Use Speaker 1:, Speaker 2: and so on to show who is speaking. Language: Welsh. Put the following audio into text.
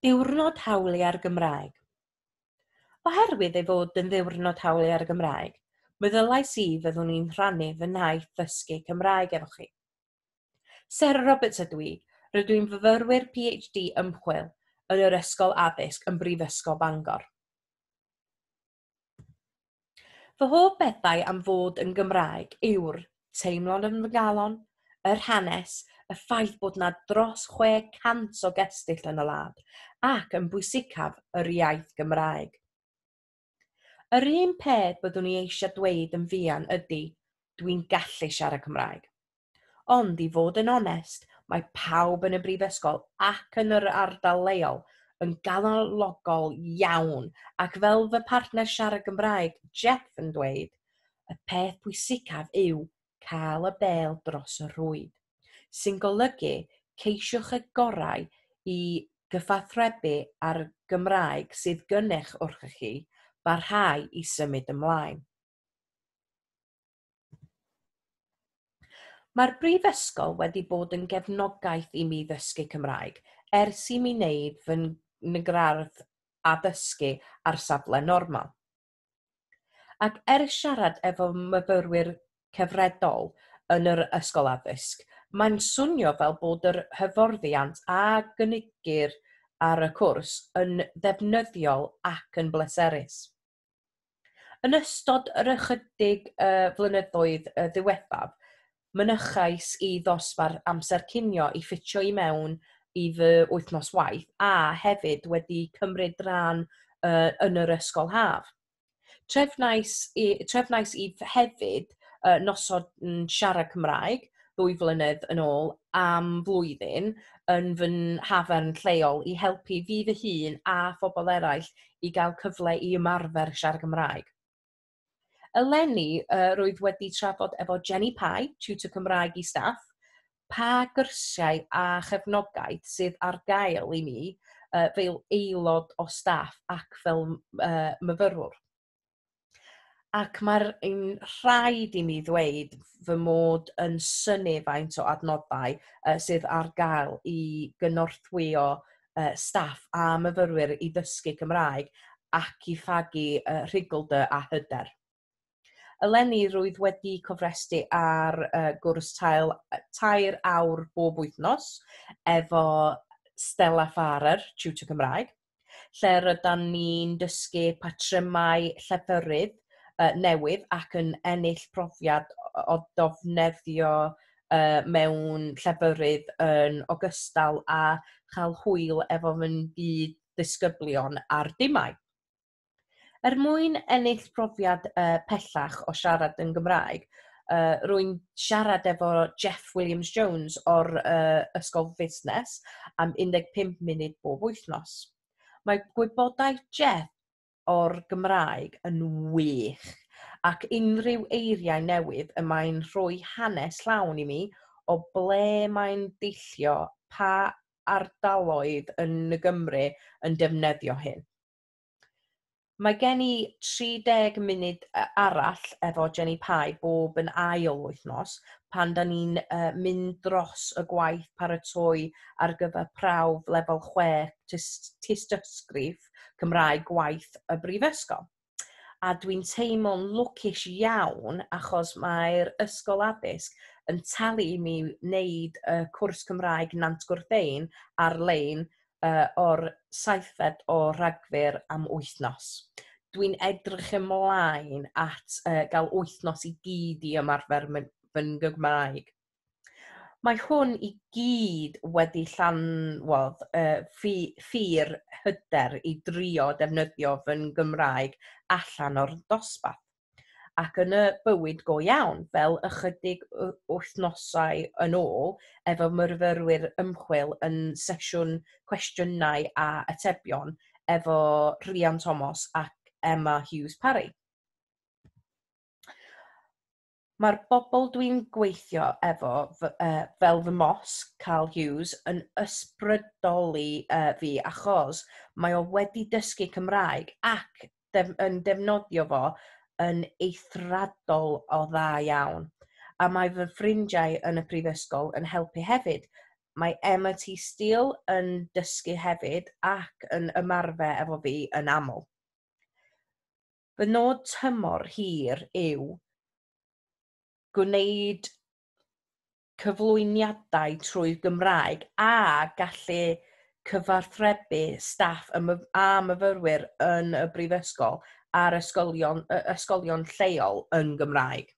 Speaker 1: Diwrnod Hawliau'r Gymraeg. Oherwydd ei fod yn Ddiwrnod Hawliau'r Gymraeg, meddylais i fyddwn i'n rhannu fy nhaith ddysgu Cymraeg efo chi. Sarah Roberts ydw i, rydw i'n fyfyrwyr PhD ymchwil yn yr Ysgol Addysg yn Brifysgol Bangor. Fy hoff bethau am fod yn Gymraeg yw'r teimlad yn fy nghalon, yr hanes, y ffaith bod 'na dros 600 o gestyll yn y wlad, ac yn bwysicaf, yr iaith Gymraeg. Yr un peth byddwn i eisiau dweud yn fuan ydy, dwi'n gallu siarad Cymraeg. Ond i fod yn onest, mae pawb yn y brifysgol ac yn yr ardal leol yn galonogol iawn ac fel fy partner siarad Gymraeg, Jeff, yn dweud, y peth pwysicaf yw cael y bêl dros y rhwyd, sy'n golygu ceisiwch y gorau i gyfathrebu â'r Gymraeg sydd gennych wrthych chi barhau i symud ymlaen. Mae'r brifysgol wedi bod yn gefnogaeth i mi ddysgu Cymraeg ers i mi wneud fy ngradd addysgu ar safle normal. Ac ers siarad efo myfyrwyr cyfredol yn yr ysgol addysg, mae'n swnio fel bod yr hyfforddiant a gynigir ar y cwrs yn ddefnyddiol ac yn bleserus. Yn ystod yr ychydig flynyddoedd ddiwethaf, mynychais i ddosbarth amser cinio i ffitio i mewn i fy wythnos waith a hefyd wedi cymryd rhan yn yr ysgol haf. Trefnais i, trefnais i hefyd noson siarad Cymraeg 2 flynedd yn ôl am flwyddyn yn fy nhafarn lleol i helpu fi fy hun a phobl eraill i gael cyfle i ymarfer siarad Cymraeg. Eleni, rwyf wedi trafod efo Jenny Pye, tutor Cymraeg i staff, pa gyrsiau a chefnogaeth sydd ar gael i mi fel aelod o staff ac fel myfyrwr. Ac mae'r un rhaid i mi ddweud fy mod yn synnu faint o adnoddau sydd ar gael i gynorthwyo staff a myfyrwyr i ddysgu Cymraeg ac i fagu rhuglder a hyder. Eleni rwyf wedi cofrestru ar gwrs 3 awr bob wythnos efo Stella Farrer, tutor Cymraeg, lle rydan ni'n dysgu patrymau lleferydd newydd ac yn ennill profiad o ddefnyddio mewn lleferydd yn ogystal â chael hwyl efo fy nghyd-ddisgyblion a'r dimau. Er mwyn ennill profiad pellach o siarad yn Gymraeg, rwy'n siarad efo Jeff Williams-Jones o'r Ysgol Fusnes am 15 munud bob wythnos. Mae gwybodaeth Jeff o'r Gymraeg yn wych ac unrhyw eiriau newydd y mae'n rhoi hanes llawn i mi o ble mae'n deillio, pa ardaloedd yn y Gymru yn defnyddio hyn. Mae gen i 30 munud arall efo Jenny Pye bob yn ail wythnos pan 'dan ni'n mynd dros y gwaith paratoi ar gyfer prawf lefel 6 tystysgrif Cymraeg gwaith y brifysgol. A dwi'n teimlo'n lwcus iawn achos mae'r ysgol addysg yn talu i mi wneud y cwrs Cymraeg Nant Gwrtheyrn ar-lein o'r 7 o Ragfyr am wythnos. Dwi'n edrych ymlaen at gael wythnos i gyd i ymarfer fy Nghymraeg. Mae hwn i gyd wedi llanwodd ffyr hyder i drio defnyddio fy Nghymraeg allan o'r dosbarth ac yn y bywyd go iawn, fel ychydig wythnosau yn ôl efo myfyrwyr ymchwil yn sesiwn cwestiynau a atebion efo Rhian Thomas ac Emma Hughes Parry. Mae'r bobl dwi'n gweithio efo fel fy mos, Carl Hughes, yn ysbrydoli fi achos mae o wedi dysgu Cymraeg ac yn defnyddio fo yn eithriadol o dda iawn. A mae fy ffrindiau yn y prifysgol yn helpu hefyd. Mae Emma T Steele yn dysgu hefyd ac yn ymarfer efo fi yn aml. Fy nod tymor hir yw gwneud cyflwyniadau trwy Gymraeg a gallu cyfathrebu staff a myfyrwyr yn y brifysgol a'r ysgolion lleol yn Gymraeg.